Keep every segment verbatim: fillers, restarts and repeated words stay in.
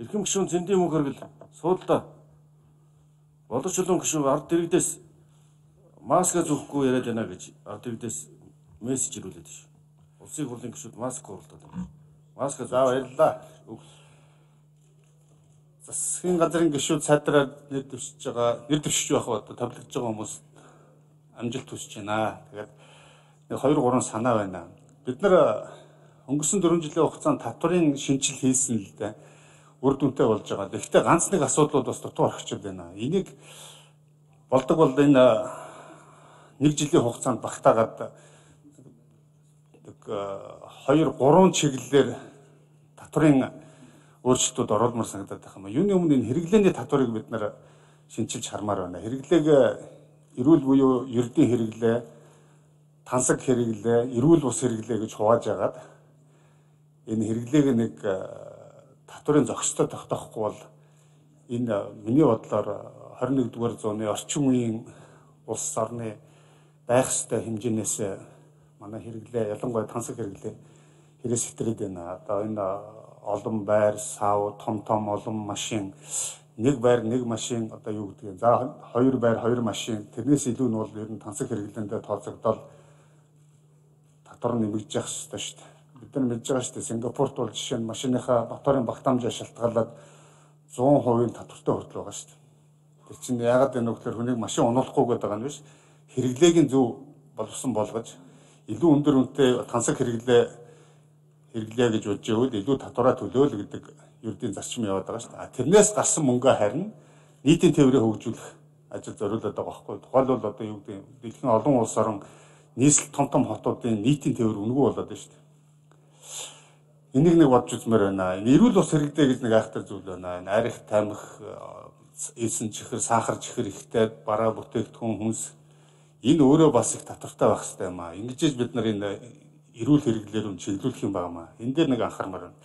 Эрхэм гишүүн Цэндийн мөнх хэргэл суудлаа. Боловч чулуун гишүүн ард иргэдээс маска зөөхгүй яриад байна гэж ард иргэдээс мессеж ирүүлээд ш. Улсын хурлын гишүүд маск хуралдаад байна. Маска заа баярлаа. Засгийн газрын гишүүд сайдраар нэр дэвшиж байгаа, нэр дэвшиж байх одоо тавлагдж байгаа хүмүүс амжилт хүсэж байна. Тэгээд нэг хоёр гурван санаа байна. Бид нар өнгөрсөн дөрвөн жилийн хугацаанд татварын шинжил хийсэн л дээ. Үр дүнтэй болж байгаа. Гэхдээ ганц нэг асуудлууд бас дутуу орхичод байна. Энийг болдог бол энэ нэг жилийн хугацаанд багтаагаад нэг хоёр гурван чиглэлээр татварын өөрчлөлтүүд оруулмаар санагдаад байна. Юуны өмнө энэ хэрэглээний татварыг бид нар шинчилж хармаар байна. Хэрэглээг эрүүл буюу ердийн хэрэглээ, тансаг хэрэглээ, эрүүл бус хэрэглээ гэж хувааж агаад энэ хэрэглээг нэг татварын зохистой тогтоохгүй бол энэ миний бодлоор хорин нэгдүгээр зууны орчин үеийн улс орны байх ёстой хэмжээнээс манай хэрэглээ, ялангуяа тансаг хэрэглээ хэрэгс хэтрээд байна. Одоо энэ олон байр, сав, том том олон машин, нэг байр, нэг машин одоо юу гэдгийг. За хоёр байр, хоёр машин. Тэрнээс илүү нь бол ер нь тансаг хэрэглээндээ тооцогдоод татвар нэмэгдэж явах ёстой шүү дээ. Бид нар мэдж байгаа шүү дээ. Сингапурт бол жишээ нь машиныхаа моторын багтаамжаа шалтгаалаад зуун хувийн татвартай хүртэл байгаа шүү дээ. Тэр чинь яагаад энэ вэ гэхээр хүнийг машин унуулахгүй гэдэг байгаа нь биш. Хэрэглээг нь зөв боловсон болгож илүү өндөр үнэтэй тансаг хэрэглээ хэрэглээ гэж бодж байвал илүү татвараа төлөөл гэдэг ердийн зарчим яваад байгаа шүү дээ. Тэрнээс гарсан мөнгөө харин нийтийн тээврийг хөгжүүлэх ажил зориулаад байгаа байхгүй. Тухайлбал одоо юу гэдэг дэлхийн олон улс орон нийслэл том том хотуудын нийтийн тээвэр үнэгүй болоод байна шүү дээ. Энийг нэг бодж үзмээр байна. Эрүүл ус хэрэглээ гэж нэг айхтар зүйл байна. Арих, тамхи, эсэн чихэр, сахар чихэр ихтэй бараа бүтээгдэхүүн хүнс энэ өөрөө бас их татвартай байх хэрэгтэй юм аа. Ингэж бид нар энэ эрүүл хэрэглээр нь чиглүүлэх юм байна. Энэ дээр нэг анхаармаар байна.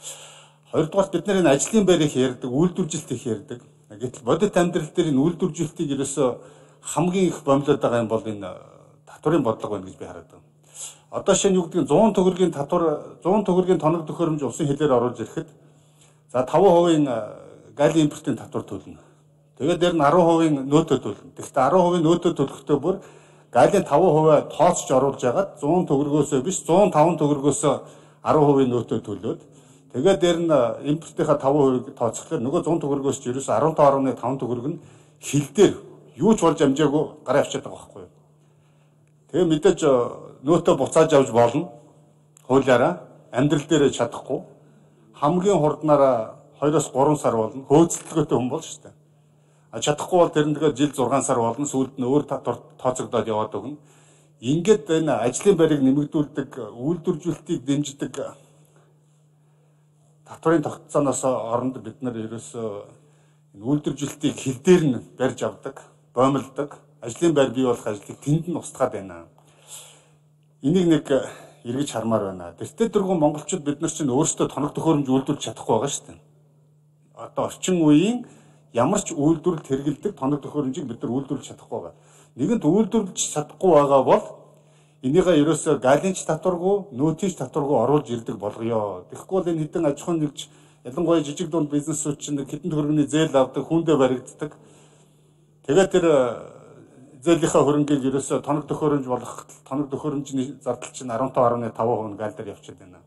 Хоёрдугаар бид нар энэ ажлын байр их ярьдаг, үйлдвэржилт их ярьдаг. Гэтэл бодит амьдрал дээр энэ үйлдвэржилтийг ерөөсөө хамгийн их бомлоод байгаа юм бол энэ татварын бодлого байна гэж би хараад байна. Одоо шинэ юу гэдэг нь сто төгрөгийн татвар сто төгрөгийн тоног төхөөрөмж улсын хилээр оруулж ирэхэд за таван хувийн галийн импортын татвар төлнө. Тэгээд дээр нь арван хувийн нөөтөө төлнө. Тэгэхдээ арван хувийн нөөтөө төлөхдөө бүр галийн таван хувиа тооцож оруулж ягаад сто төгрөгөөсөө биш сто таван төгрөгөөс арван хувийн нөөтөө төлөөд тэгээд дээр нь импортынхаа таван хувийг тооцохлоор нөгөө сто төгрөгөөс ч ерөөс арван таван гаруй таван төгрөг нь хил дээр юу ч болж амжаагүй гараа авчиад байгаа байхгүй юу. Тэгээ мэдээж нөөтөө буцааж авч болно. Хуулиараа амьдрал дээр чадахгүй. Хамгийн хурднаараа хоёроос гурван сар болно. Хөөцөлтгөөтэй хүн бол шүү дээ. А чадахгүй бол тэр нь тэгээд жил зургаан сар болно. Сүүлд нь өөр татвар тооцогдоод яваад өгнө. Ингээд энэ ажлын байрыг нэмэгдүүлдэг, үйлдвэржүүлэлтийг дэмждэг татварын тогтцооноос оронд бид нар ерөөсөө энэ үйлдвэржүүлэлтийг хил дээр нь барьж авдаг, боомлдог, ажлын байр бий болох ажлыг тэнд нь устгаад байна. Энийг нэг эргэж хармаар байна. Тэртээ дөрвөн монголчууд бид нар чинь өөрсдөө тоног төхөөрөмж үйлдвэрлэж чадахгүй байгаа шүү дээ. Одоо орчин үеийн ямар ч үйлдвэрлэлд хэрэгэлдэг тоног төхөөрөмжийг бид нар үйлдвэрлэж чадахгүй байгаа. Нэгэнт үйлдвэрлэж чадахгүй байгаа бол энийгээ ерөөсөө галийн ч татваргүй, нөөтийн ч татваргүй оруулж ирдэг болгоё. Тэгэхгүй бол энэ хэдэн аж ахуйн нэгж ялангуяа жижиг дунд бизнесүүд чинь хэдэн төгрөгийн зээл авдаг, хүндээ баригддаг. Тэгээд тэр зээлийнхаа хөрөнгийг ерөөсөө тоног төхөөрөмж болох тоног төхөөрөмжний зардал чинь арван таван гаруй таван хувь гаал дээр явчихад байна.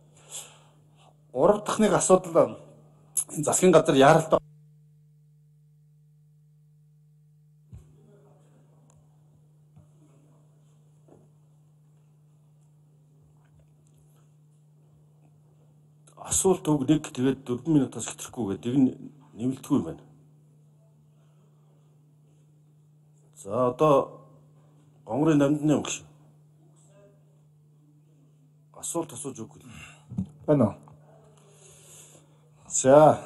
Гурав дахь нэг асуудал энэ засгийн газар яаралтай асуулт үг нэг тэгээд дөрвөн минутаас хэтрэхгүй гэдэг нь нэмэлтгүй юм байна. За одоо онгорын намдны өнгөш. Асуулт асууж өгөх. Байна уу? За